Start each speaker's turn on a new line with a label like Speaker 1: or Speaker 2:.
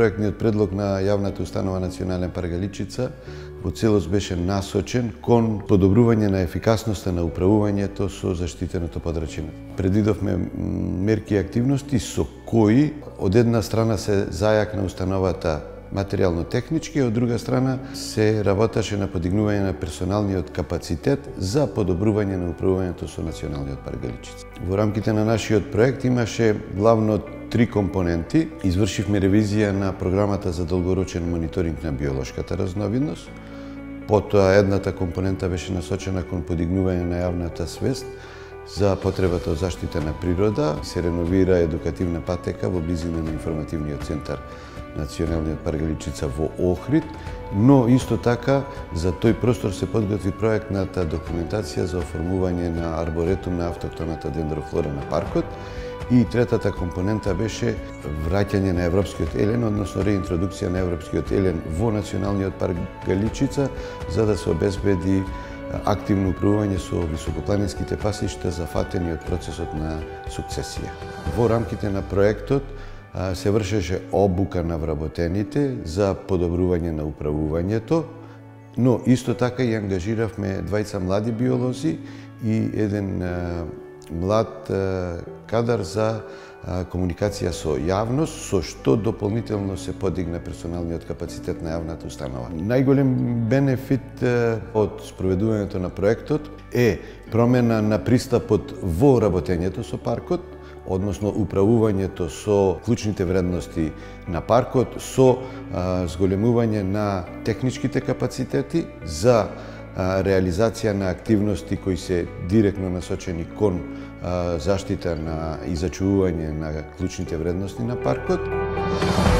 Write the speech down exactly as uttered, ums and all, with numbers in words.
Speaker 1: проектниот предлог на јавната установа Национален парк Галичица во целост беше насочен кон подобрување на ефикасноста на управувањето со заштитеното подрачје. Предвидовме мерки и активности со кои од една страна се зајакна установата материјално-технички, од друга страна се работеше на подигнување на персоналниот капацитет за подобрување на управувањето со Националниот парк Галичица. Во рамките на нашиот проект имаше главно три компоненти. Извршивме ревизија на програмата за долгорочен мониторинг на биолошката разновидност. Потоа едната компонента беше насочена кон подигнување на јавната свест за потребата од заштита на природа. Се реновира едукативна патека во близина на информативниот центар Националниот парк Галичица во Охрид, но исто така за тој простор се подготви проектната документација за оформување на арборетум на автохтоната дендрофлора на паркот. И третата компонента беше враќање на европскиот елен, односно реинтродукција на европскиот елен во Националниот парк Галичица, за да се обезбеди активно управување со високопланинските пасишта зафатени од процесот на сукцесија. Во рамките на проектот се вршеше обука на вработените за подобрување на управувањето, но исто така и ангажиравме двајца млади биолози и еден млад кадар за комуникација со јавност, со што дополнително се подигна персоналниот капацитет на јавната установа. Најголем бенефит од спроведувањето на проектот е промена на пристапот во работењето со паркот, односно управувањето со клучните вредности на паркот, со а, зголемување на техничките капацитети за а, реализација на активности кои се директно насочени кон а, заштита на и зачувување на клучните вредности на паркот.